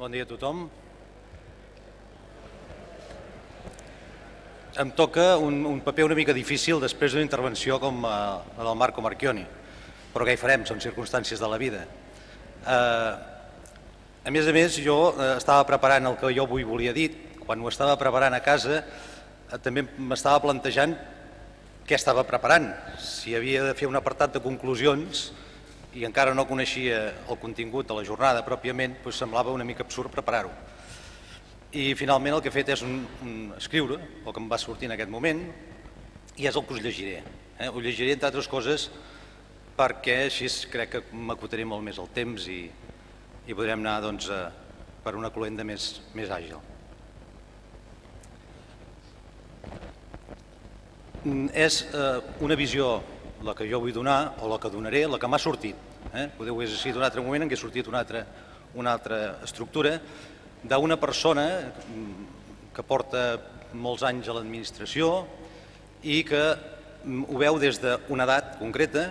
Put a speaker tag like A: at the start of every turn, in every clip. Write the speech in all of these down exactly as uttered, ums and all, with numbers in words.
A: Bon dia a tothom. Em toca un, un paper una mica difícil després d'una intervenció com eh, la del Marco Marchioni, però què hi farem? Són circumstàncies de la vida. Eh, a més a més, jo eh, estava preparant el que jo avui volia dir. Quan ho estava preparant a casa eh, també m'estava plantejant què estava preparant, si havia de fer un apartat de conclusions i encara no coneixia el contingut de la jornada pròpiament, doncs semblava una mica absurd preparar-ho. I finalment el que he fet és un, un escriure el que em va sortir en aquest moment i és el que us llegiré. Eh? Ho llegiré entre altres coses perquè així crec que m'acotaré molt més el temps i, i podrem anar doncs, a, per una cloenda més, més àgil. És eh, una visió la que jo vull donar o la que donaré, la que m'ha sortit. Eh? Podeu haver sigut un altre moment en què ha sortit una altra, una altra estructura d'una persona que porta molts anys a l'administració i que ho veu des d'una edat concreta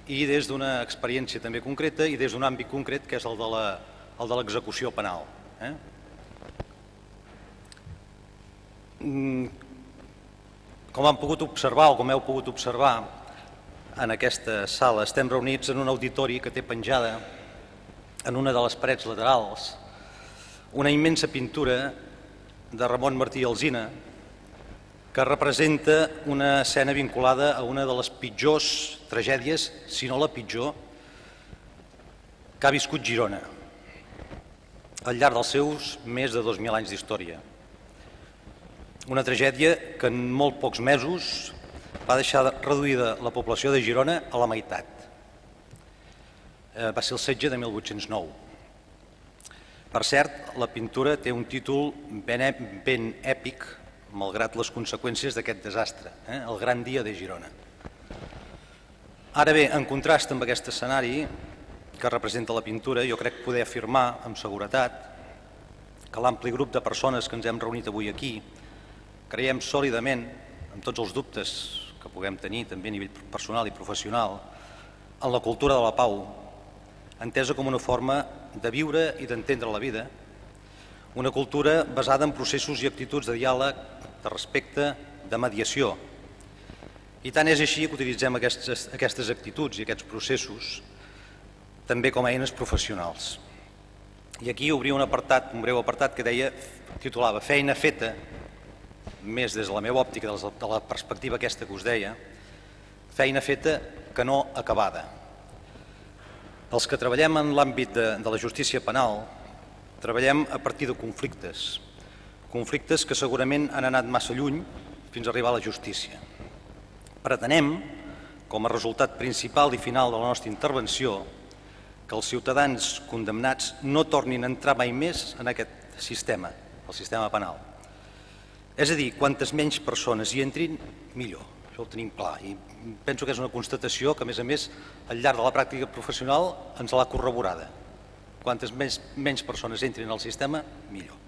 A: i des d'una experiència també concreta i des d'un àmbit concret que és el de l'execució penal. Eh? Com han pogut observar o com heu pogut observar en aquesta sala, estem reunits en un auditori que té penjada en una de les parets laterals una immensa pintura de Ramon Martí i Alsina que representa una escena vinculada a una de les pitjors tragèdies, si no la pitjor, que ha viscut Girona al llarg dels seus més de dos mil anys d'història. Una tragèdia que en molt pocs mesos va deixar reduïda la població de Girona a la meitat. Va ser el setge de mil vuit-cents nou. Per cert, la pintura té un títol ben èpic, malgrat les conseqüències d'aquest desastre, eh? El gran dia de Girona. Ara bé, en contrast amb aquest escenari que representa la pintura, jo crec poder afirmar amb seguretat que l'ampli grup de persones que ens hem reunit avui aquí creiem sòlidament, amb tots els dubtes que puguem tenir també a nivell personal i professional, en la cultura de la pau, entesa com una forma de viure i d'entendre la vida, una cultura basada en processos i actituds de diàleg, de respecte, de mediació. I tant és així que utilitzem aquestes, aquestes actituds i aquests processos també com a eines professionals. I aquí obria un apartat, un breu apartat que deia, titulava Feina feta, més des de la meva òptica, de la perspectiva aquesta que us deia, feina feta que no acabada. Els que treballem en l'àmbit de, de la justícia penal treballem a partir de conflictes, conflictes que segurament han anat massa lluny fins a arribar a la justícia. Pretenem, com a resultat principal i final de la nostra intervenció, que els ciutadans condemnats no tornin a entrar mai més en aquest sistema, el sistema penal. És a dir, quantes menys persones hi entrin, millor. Això ho tenim clar i penso que és una constatació que, a més a més, al llarg de la pràctica professional ens l'ha corroborada. Quantes menys, menys persones entrin al sistema, millor.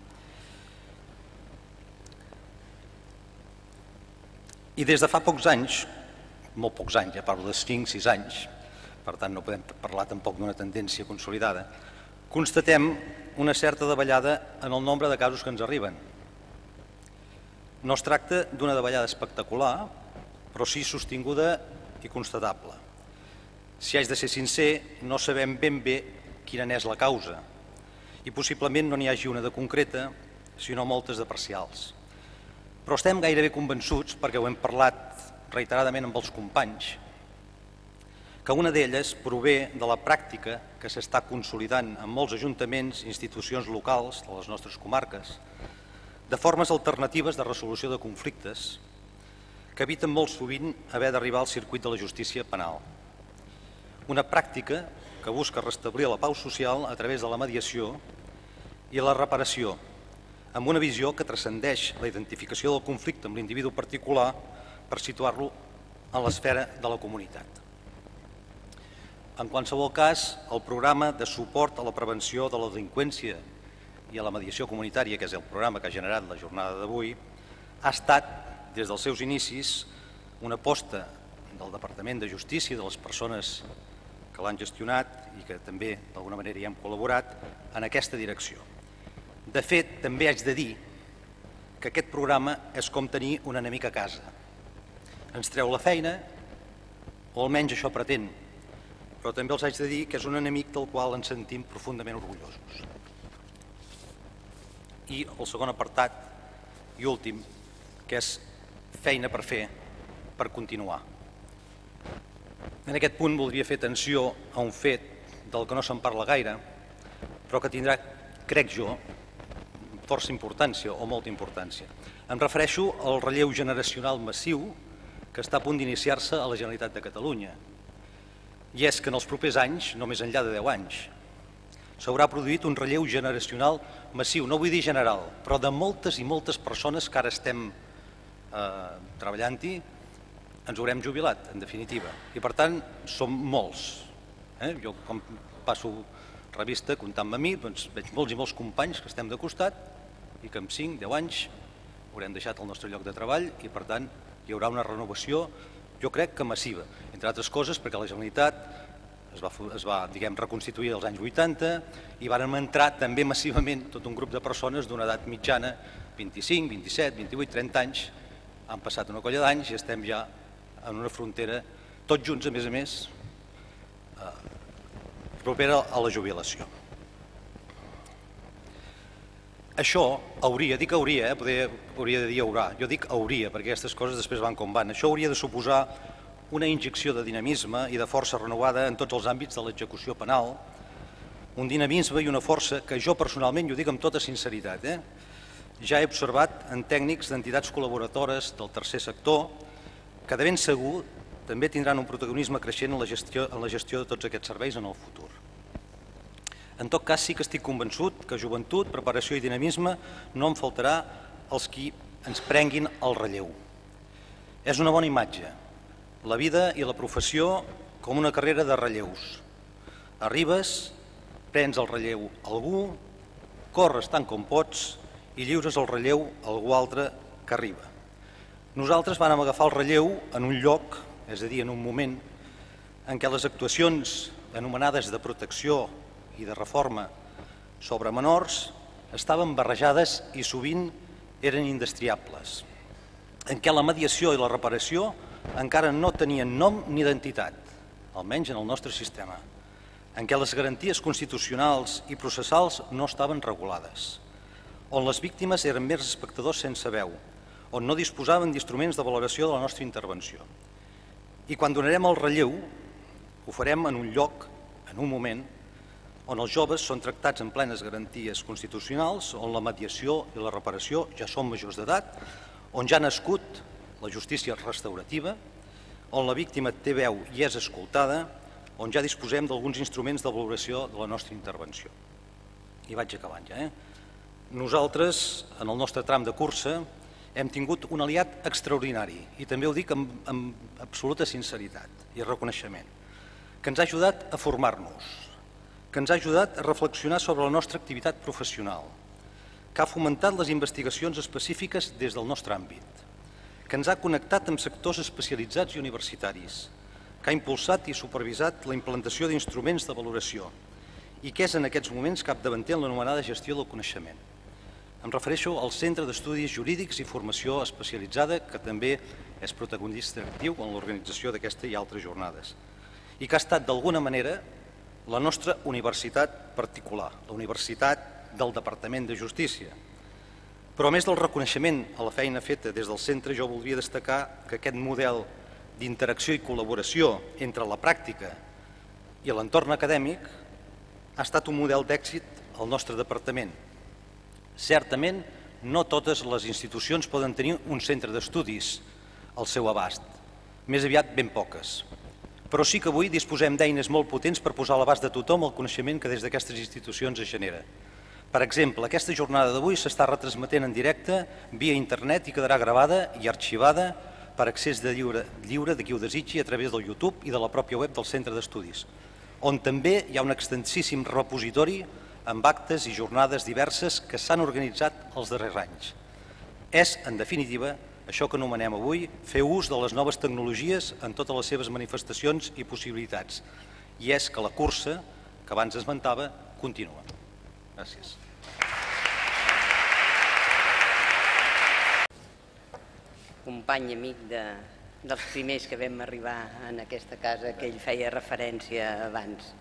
A: I des de fa pocs anys, molt pocs anys, ja parlo de cinc sis anys, per tant no podem parlar tampoc d'una tendència consolidada, constatem una certa davallada en el nombre de casos que ens arriben. No es tracta d'una davallada espectacular, però sí sostinguda i constatable. Si haig de ser sincer, no sabem ben bé quina n'és la causa i possiblement no n'hi hagi una de concreta, sinó moltes de parcials. Però estem gairebé convençuts, perquè ho hem parlat reiteradament amb els companys, que una d'elles prové de la pràctica que s'està consolidant en molts ajuntaments i institucions locals de les nostres comarques, de formes alternatives de resolució de conflictes que eviten molt sovint haver d'arribar al circuit de la justícia penal. Una pràctica que busca restablir la pau social a través de la mediació i la reparació, amb una visió que transcendeix la identificació del conflicte amb l'individu particular per situar-lo en l'esfera de la comunitat. En qualsevol cas, el programa de suport a la prevenció de la delinqüència i a la mediació comunitària, que és el programa que ha generat la jornada d'avui, ha estat, des dels seus inicis, una aposta del Departament de Justícia i de les persones que l'han gestionat i que també d'alguna manera hi hem col·laborat en aquesta direcció. De fet, també haig de dir que aquest programa és com tenir un enemic a casa. Ens treu la feina, o almenys això pretén, però també els haig de dir que és un enemic del qual ens sentim profundament orgullosos. I el segon apartat i últim, que és feina per fer, per continuar. En aquest punt voldria fer atenció a un fet del que no se'n parla gaire, però que tindrà, crec jo, força importància o molta importància. Em refereixo al relleu generacional massiu que està a punt d'iniciar-se a la Generalitat de Catalunya. I és que en els propers anys, no més enllà de deu anys, s'haurà produït un relleu generacional massiu, no vull dir general, però de moltes i moltes persones que ara estem eh, treballant-hi, ens haurem jubilat, en definitiva. I per tant, som molts. Eh? Jo, com passo revista comptant-me a mi, doncs veig molts i molts companys que estem de costat i que en cinc, deu anys haurem deixat el nostre lloc de treball i per tant hi haurà una renovació, jo crec que massiva, entre altres coses perquè la Generalitat es va, es va diguem, reconstituir als anys vuitanta i vàrem entrar també massivament tot un grup de persones d'una edat mitjana, vint-i-cinc, vint-i-set, vint-i-vuit, trenta anys, han passat una colla d'anys i estem ja en una frontera, tots junts a més a més, eh, propera a la jubilació. Això hauria, dic hauria, eh, poder, hauria de dir haurà, jo dic hauria perquè aquestes coses després van com van, això hauria de suposar una injecció de dinamisme i de força renovada en tots els àmbits de l'execució penal, un dinamisme i una força que jo personalment, jo dic amb tota sinceritat, eh, ja he observat en tècnics d'entitats col·laboradores del tercer sector que de ben segur també tindran un protagonisme creixent en la gestió, en la gestió de tots aquests serveis en el futur. En tot cas, sí que estic convençut que joventut, preparació i dinamisme no en faltarà als qui ens prenguin el relleu. És una bona imatge, la vida i la professió com una carrera de relleus. Arribes, prens el relleu a algú, corres tant com pots i lliures el relleu a algú altre que arriba. Nosaltres vam agafar el relleu en un lloc, és a dir, en un moment en què les actuacions anomenades de protecció i de reforma sobre menors estaven barrejades i sovint eren indestriables, en què la mediació i la reparació encara no tenien nom ni identitat, almenys en el nostre sistema, en què les garanties constitucionals i processals no estaven regulades, on les víctimes eren mers espectadors sense veu, on no disposaven d'instruments de valoració de la nostra intervenció. I quan donarem el relleu, ho farem en un lloc, en un moment, on els joves són tractats en plenes garanties constitucionals, on la mediació i la reparació ja són majors d'edat, on ja ha nascut la justícia restaurativa, on la víctima té veu i és escoltada, on ja disposem d'alguns instruments de valoració de la nostra intervenció. I vaig acabant ja. Eh? Nosaltres, en el nostre tram de cursa, hem tingut un aliat extraordinari, i també ho dic amb, amb absoluta sinceritat i reconeixement, que ens ha ajudat a formar-nos, que ens ha ajudat a reflexionar sobre la nostra activitat professional, que ha fomentat les investigacions específiques des del nostre àmbit, que ens ha connectat amb sectors especialitzats i universitaris, que ha impulsat i supervisat la implantació d'instruments de valoració i que és en aquests moments capdavanter en l'anomenada gestió del coneixement. Em refereixo al Centre d'Estudis Jurídics i Formació Especialitzada, que també és protagonista actiu en l'organització d'aquesta i altres jornades, i que ha estat d'alguna manera la nostra universitat particular, la universitat del Departament de Justícia. Però a més del reconeixement a la feina feta des del centre, jo voldria destacar que aquest model d'interacció i col·laboració entre la pràctica i l'entorn acadèmic ha estat un model d'èxit al nostre departament. Certament, no totes les institucions poden tenir un centre d'estudis al seu abast, més aviat ben poques. Però sí que avui disposem d'eines molt potents per posar a l'abast de tothom el coneixement que des d'aquestes institucions es genera. Per exemple, aquesta jornada d'avui s'està retransmetent en directe via internet i quedarà gravada i arxivada per accés de lliure, lliure de qui ho desitgi a través del YouTube i de la pròpia web del Centre d'Estudis, on també hi ha un extensíssim repositori amb actes i jornades diverses que s'han organitzat els darrers anys. És, en definitiva, això que anomenem avui, fer ús de les noves tecnologies en totes les seves manifestacions i possibilitats. i és que la cursa que abans esmentava continua. Gràcies.
B: Company i amic de, dels primers que vam arribar en aquesta casa que ell feia referència abans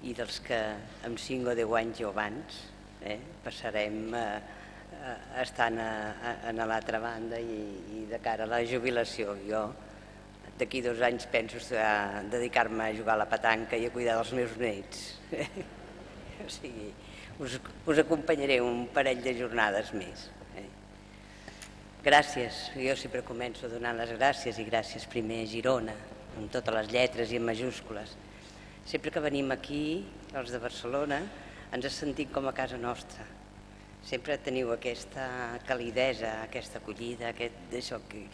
B: i dels que amb cinc o deu anys o abans eh, passarem a, a, estant a, a, a l'altra banda i, i de cara a la jubilació. Jo d'aquí dos anys penso a dedicar-me a jugar a la petanca i a cuidar dels meus nets. O sigui, us, us acompanyaré un parell de jornades més. Eh. Gràcies, jo sempre començo donant les gràcies i gràcies primer a Girona, amb totes les lletres i en majúscules. Sempre que venim aquí, els de Barcelona, ens sentim com a casa nostra. Sempre teniu aquesta calidesa, aquesta acollida, aquest, això, que,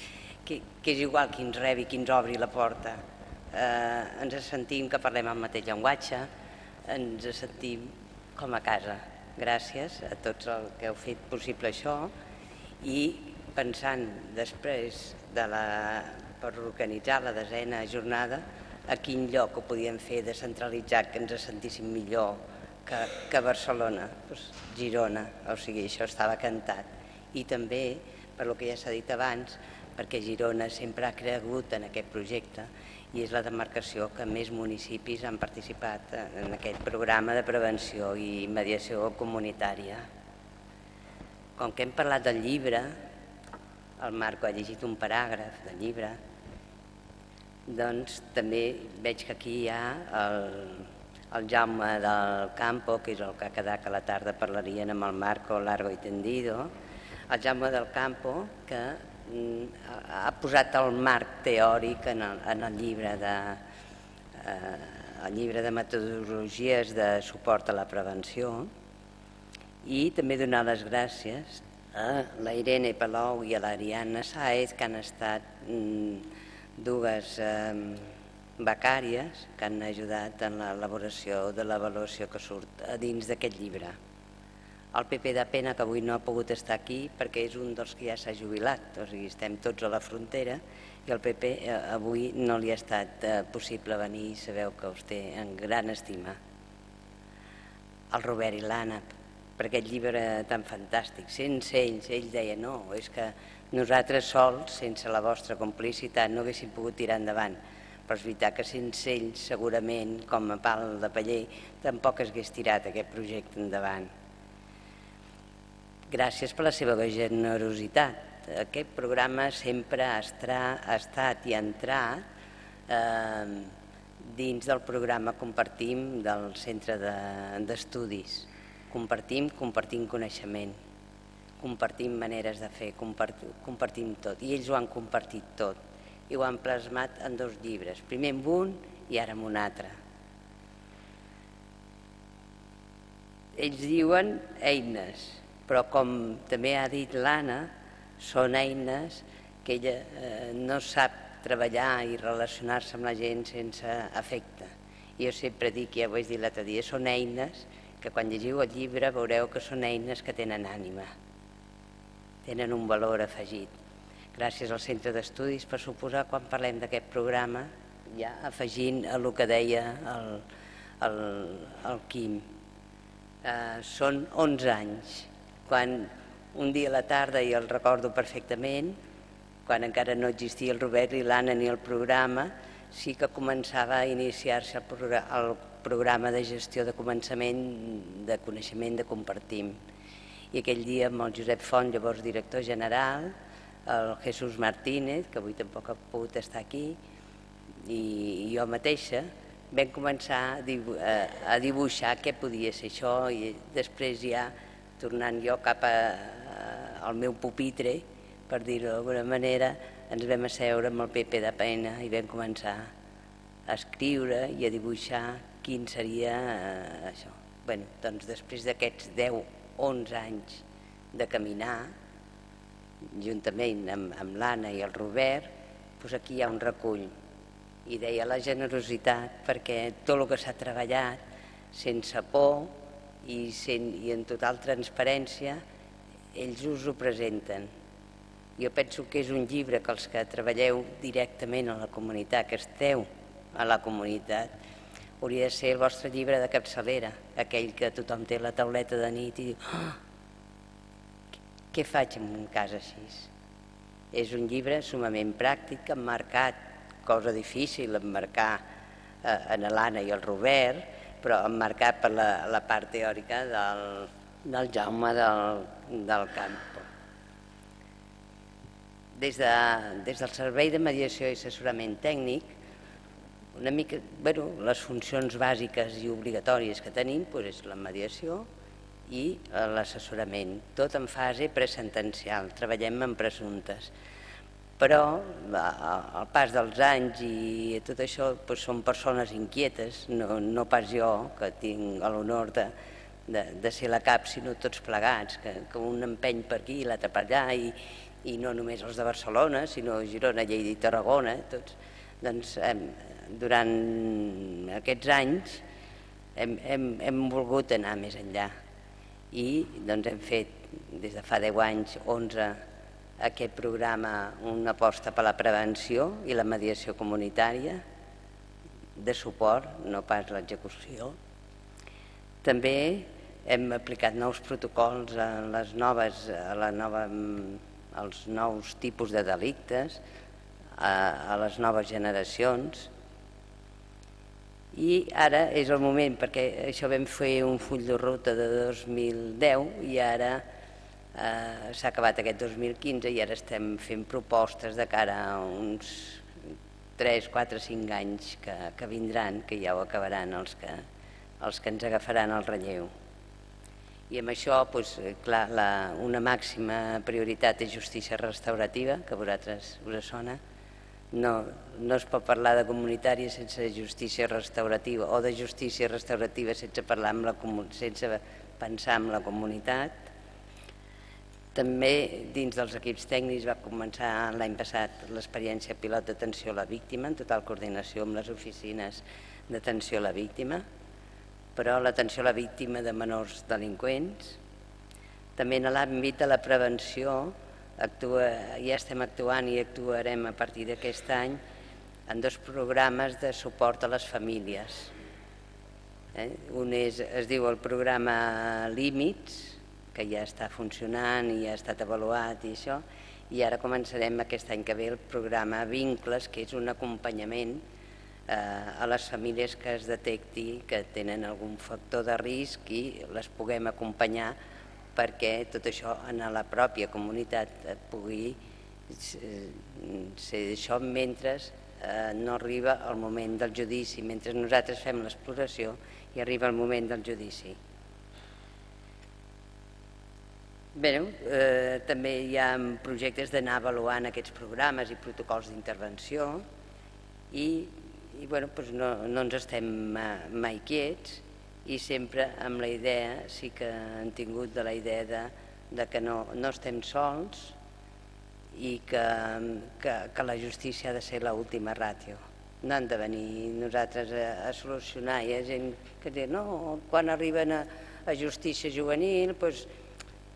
B: que, que és igual qui ens rebi, qui ens obri la porta. Eh, ens sentim que parlem el mateix llenguatge, ens sentim com a casa. Gràcies a tots els que heu fet possible això i pensant després de la, per organitzar la desena jornada a quin lloc ho podíem fer descentralitzat que ens sentíssim millor que, que Barcelona, doncs Girona, o sigui, això estava cantat. I també, per lo que ja s'ha dit abans, perquè Girona sempre ha cregut en aquest projecte i és la demarcació que més municipis han participat en aquest programa de prevenció i mediació comunitària. Com que hem parlat del llibre, el Marco ha llegit un paràgraf del llibre, doncs també veig que aquí hi ha el, el Jaume del Campo, que és el que ha quedat que a la tarda parlarien amb el Marco largo i tendido, el Jaume del Campo que ha posat el marc teòric en el, en el llibre de eh, el llibre de metodologies de suport a la prevenció i també donar les gràcies a la Irene Palou i a l'Ariadna Sáez que han estat mm, dues eh, becàries que han ajudat en l'elaboració de l'avaluació que surt a dins d'aquest llibre. El P P de pena que avui no ha pogut estar aquí perquè és un dels que ja s'ha jubilat, o sigui, estem tots a la frontera i el P P avui no li ha estat possible venir i sabeu que us té en gran estima. El Robert i l'Anna, per aquest llibre tan fantàstic, sense ells, ell deia no, és que nosaltres sols, sense la vostra complicitat, no haguéssim pogut tirar endavant, però és veritat que sense ells segurament, com a pal de paller, tampoc es hagués tirat aquest projecte endavant. Gràcies per la seva generositat. Aquest programa sempre ha estat i ha entrat eh, dins del programa Compartim del Centre d'Estudis. Compartim, compartim coneixement, compartim maneres de fer, compartim, compartim tot. I ells ho han compartit tot i ho han plasmat en dos llibres, primer en un i ara en un altre. Ells diuen eines, però com també ha dit l'Anna, són eines que ella eh, no sap treballar i relacionar-se amb la gent sense afecte. Jo sempre dic, ja ho vaig dir l'altre dia, són eines que quan llegiu el llibre veureu que són eines que tenen ànima, tenen un valor afegit. Gràcies al Centre d'Estudis, per suposar, quan parlem d'aquest programa, ja afegint el que deia el, el, el Quim. Eh, són onze anys. Quan un dia a la tarda, i el recordo perfectament, quan encara no existia el Robert i l'Anna ni el programa, sí que començava a iniciar-se el, progr el programa de gestió de començament de coneixement de Compartim. I aquell dia amb el Josep Font, llavors director general, el Jesús Martínez, que avui tampoc ha pogut estar aquí, i jo mateixa, vam començar a, dibu a, a dibuixar què podia ser això i després ja tornant jo cap a, al meu pupitre, per dir-ho d'alguna manera, ens vam asseure amb el P P de pena i vam començar a escriure i a dibuixar quin seria eh, això. Bé, doncs després d'aquests deu, onze anys de caminar, juntament amb, amb l'Anna i el Robert, doncs aquí hi ha un recull. I deia la generositat, perquè tot el que s'ha treballat sense por, I, sent, i en total transparència, ells us ho presenten. Jo penso que és un llibre que els que treballeu directament a la comunitat, que esteu a la comunitat, hauria de ser el vostre llibre de capçalera, aquell que tothom té a la tauleta de nit i diu oh, què faig en un cas així? És un llibre sumament pràctic, emmarcat, cosa difícil, emmarcar eh, en l'Anna i el Robert, però emmarcat per la, la part teòrica del, del Jaume del, del Campo. Des, de, des del Servei de Mediació i Assessorament Tècnic, una mica, bueno, les funcions bàsiques i obligatòries que tenim doncs és la mediació i l'assessorament, tot en fase presentencial, treballem en presumptes. Però al pas dels anys i tot això doncs són persones inquietes, no, no pas jo, que tinc l'honor de, de, de ser la cap, sinó tots plegats, que, que un empeny per aquí i l'altre per allà, i, i no només els de Barcelona, sinó Girona, Lleida i Tarragona, tots. Doncs hem, durant aquests anys hem, hem, hem volgut anar més enllà i doncs hem fet des de fa deu anys, onze, aquest programa, una aposta per la prevenció i la mediació comunitària de suport, no pas l'execució. També hem aplicat nous protocols a les noves, a la nova, als nous tipus de delictes, a, a les noves generacions. I ara és el moment, perquè això vam fer un full de ruta de dos mil deu i ara eh, s'ha acabat aquest dos mil quinze i ara estem fent propostes de cara a uns tres, quatre, cinc anys que, que vindran, que ja ho acabaran els que, els que ens agafaran el relleu. I amb això, doncs, clar, la, una màxima prioritat és justícia restaurativa, que a vosaltres us sona. No, no es pot parlar de comunitària sense justícia restaurativa o de justícia restaurativa sense, parlar amb la, sense pensar en la comunitat. També dins dels equips tècnics va començar l'any passat l'experiència pilot d'atenció a la víctima en total coordinació amb les oficines d'atenció a la víctima, però l'atenció a la víctima de menors delinqüents. També en l'àmbit de la prevenció Actua, ja estem actuant i actuarem a partir d'aquest any en dos programes de suport a les famílies. Eh? Un és, es diu el programa Límits, que ja està funcionant i ja ha estat avaluat i això, i ara començarem aquest any que ve el programa Vincles, que és un acompanyament eh, a les famílies que es detecti que tenen algun factor de risc i les puguem acompanyar perquè tot això en la pròpia comunitat pugui ser això mentre no arriba el moment del judici, mentre nosaltres fem l'exploració i arriba el moment del judici. Bé, eh, també hi ha projectes d'anar avaluant aquests programes i protocols d'intervenció i, i bueno, doncs no, no ens estem mai quiets, i sempre amb la idea, sí que han tingut de la idea de, de que no, no estem sols i que, que, que la justícia ha de ser l'última ràtio. No han de venir nosaltres a, a solucionar. Hi ha gent que diu, no, quan arriben a, a justícia juvenil, doncs,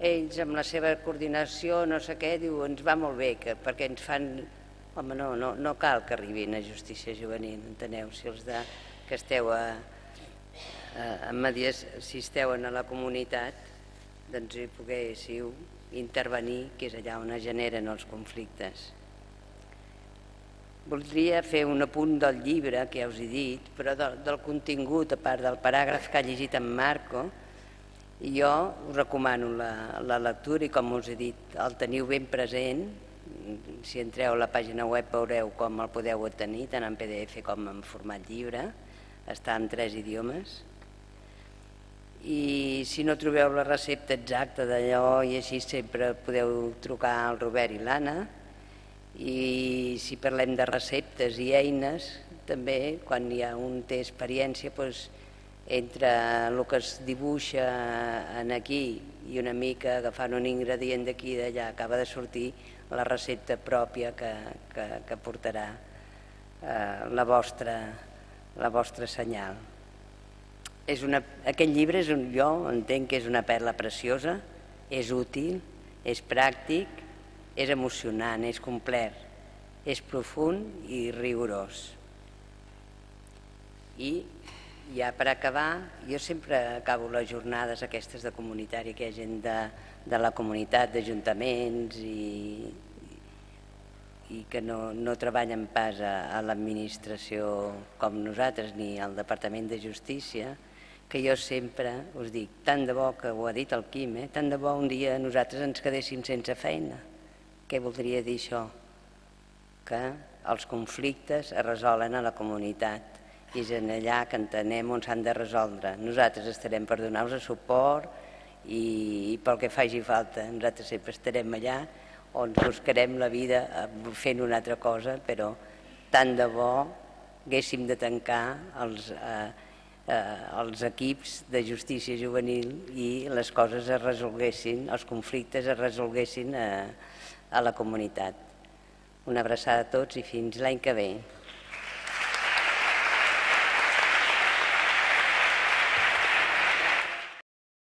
B: ells amb la seva coordinació, no sé què, diu, ens va molt bé, que, perquè ens fan... Home, no, no, no cal que arribin a justícia juvenil, enteneu? Si els de, que esteu a... en medies, si esteu a la comunitat, doncs hi poguéssiu intervenir, que és allà on es generen els conflictes. Voldria fer un apunt del llibre, que ja us he dit, però del, del contingut, a part del paràgraf que ha llegit en Marco, jo us recomano la, la lectura i, com us he dit, el teniu ben present. Si entreu a la pàgina web veureu com el podeu obtenir, tant en P D F com en format llibre. Està en tres idiomes. I si no trobeu la recepta exacta d'allò i així sempre podeu trucar al Robert i l'Anna. I si parlem de receptes i eines, també quan hi ha un té experiència, doncs, entre el que es dibuixa aquí i una mica agafant un ingredient d'aquí i d'allà acaba de sortir la recepta pròpia que, que, que portarà eh, la vostra, la vostra senyal. És una, aquest llibre és un, jo entenc que és una perla preciosa, és útil, és pràctic, és emocionant, és complet, és profund i rigorós. I ja per acabar, jo sempre acabo les jornades aquestes de comunitari, que hi ha gent de, de la comunitat, d'ajuntaments i, i que no, no treballen pas a, a l'administració com nosaltres ni al Departament de Justícia, que jo sempre us dic, tant de bo, que ho ha dit el Quim, eh? Tant de bo un dia nosaltres ens quedéssim sense feina. Què voldria dir això? Que els conflictes es resolen a la comunitat i és en allà que entenem on s'han de resoldre. Nosaltres estarem per donar-vos suport i, i pel que faci falta. Nosaltres sempre estarem allà on buscarem la vida fent una altra cosa, però tant de bo haguéssim de tancar els, eh, eh, els equips de justícia juvenil i les coses es resolguessin, els conflictes es resolguessin a, a la comunitat. Una abraçada a tots i fins l'any que ve.